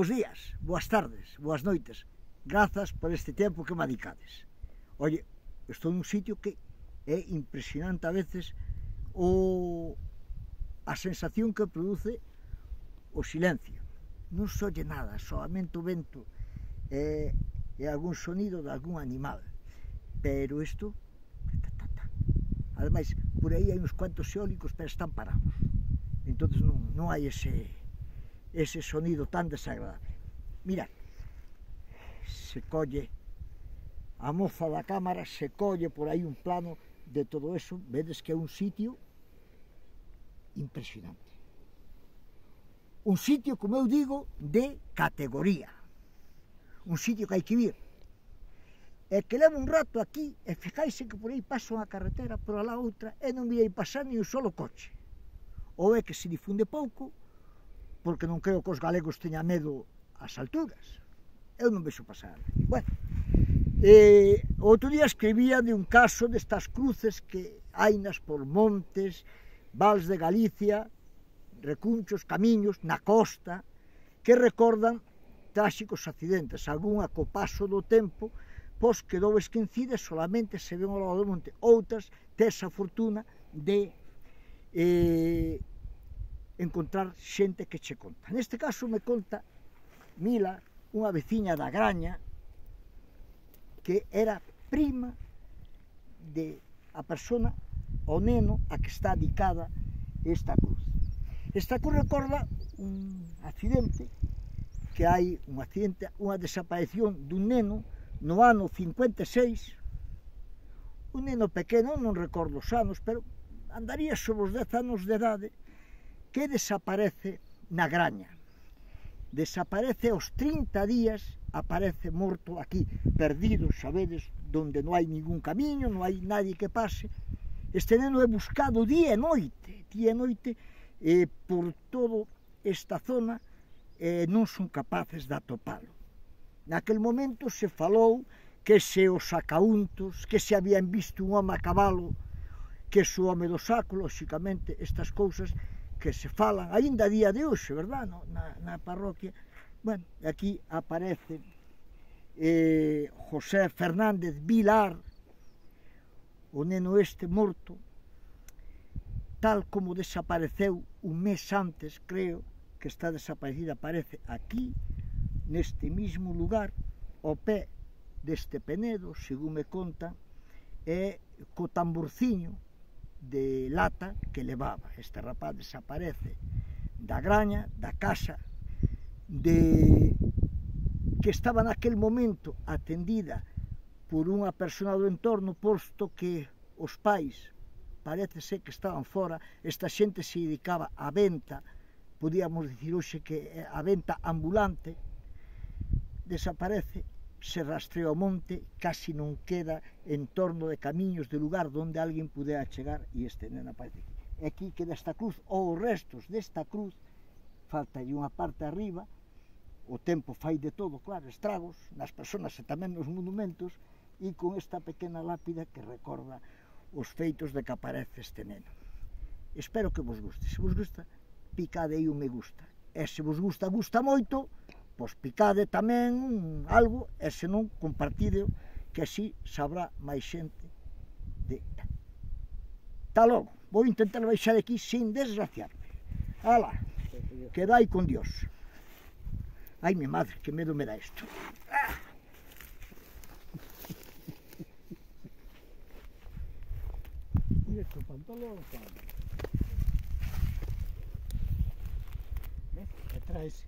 Bos días, boas tardes, boas noites. Grazas por este tempo que me adicades. Oye, estou nun sitio que é impresionante a veces a sensación que produce o silencio. Non se oye nada, solamente o vento e algún sonido de algún animal. Pero isto... Ademais, por aí hai uns cuantos eólicos, pero están parados. Entón non hai ese sonido tan desagradable. Mirad, se colle a moza da cámara, se colle por aí un plano de todo eso, vedes que é un sitio impresionante. Un sitio, como eu digo, de categoría. Un sitio que hai que vir. E que leva un rato aquí, e fijáis que por aí pasa unha carretera, por alá outra, e non virei pasar ni un solo coche. Ou é que se difunde pouco, porque non creo que os galegos teñan medo ás alturas. Eu non vexo pasar. Bueno, outro día escribía de un caso destas cruces que hainas por montes, vals de Galicia, recunchos, camiños, na costa, que recordan tráxicos accidentes. Algúnha co paso do tempo, pois quedou esquecida e solamente se ven ao lado do monte. Outras tes a fortuna de encontrar xente que che conta. Neste caso me conta Mila, unha veciña da Graña, que era prima de a persona, o neno, a que está dedicada esta cruz. Esta cruz recorda un accidente, que hai un accidente, unha desaparición dun neno no ano 56, un neno pequeno, non recordo os anos, pero andaría sobre os 10 anos de idade, que desaparece na Graña. Desaparece aos 30 días, aparece morto aquí, perdido, sabedes, donde non hai ningún camiño, non hai nadie que pase. Este neno é buscado día e noite, por toda esta zona, e non son capaces de atopalo. Naquel momento se falou que se os sacauntos, que se habían visto un home a cabalo, que se o home do saco, lóxicamente, estas cousas que se falan, aínda a día de hoxe, verdad, na parroquia. Bueno, aquí aparece José Fernández Vilar, o neno este morto, tal como desapareceu un mes antes, creo, que está desaparecida, aparece aquí, neste mismo lugar, ao pé deste penedo, según me contan, e co tamborciño de lata que levaba. Este rapaz desaparece da Graña, da casa que estaba naquel momento atendida por unha persona do entorno, posto que os pais parece ser que estaban fora. Esta xente se dedicaba á venta, podíamos dicir hoxe que a venta ambulante. Desaparece, se rastrea ao monte, casi non queda en torno de camiños de lugar onde alguén pudera chegar, e este neno aparece aquí. E aquí queda esta cruz, ou os restos desta cruz, faltalle unha parte arriba, o tempo fai de todo, claro, estragos nas persoas e tamén nos monumentos, e con esta pequena lápida que recorda os feitos de que aparece este neno. Espero que vos guste. Se vos gusta, picade aí o me gusta. E se vos gusta moito, pois picade tamén algo, e se non, compartideo, que así sabrá máis xente de... Tá logo, vou intentar baixar aquí sin desgraciarme. Alá, quedai con Dios. Ai, mi madre, que medo me dá isto. Mira este pantalón, ¿ves? Que traes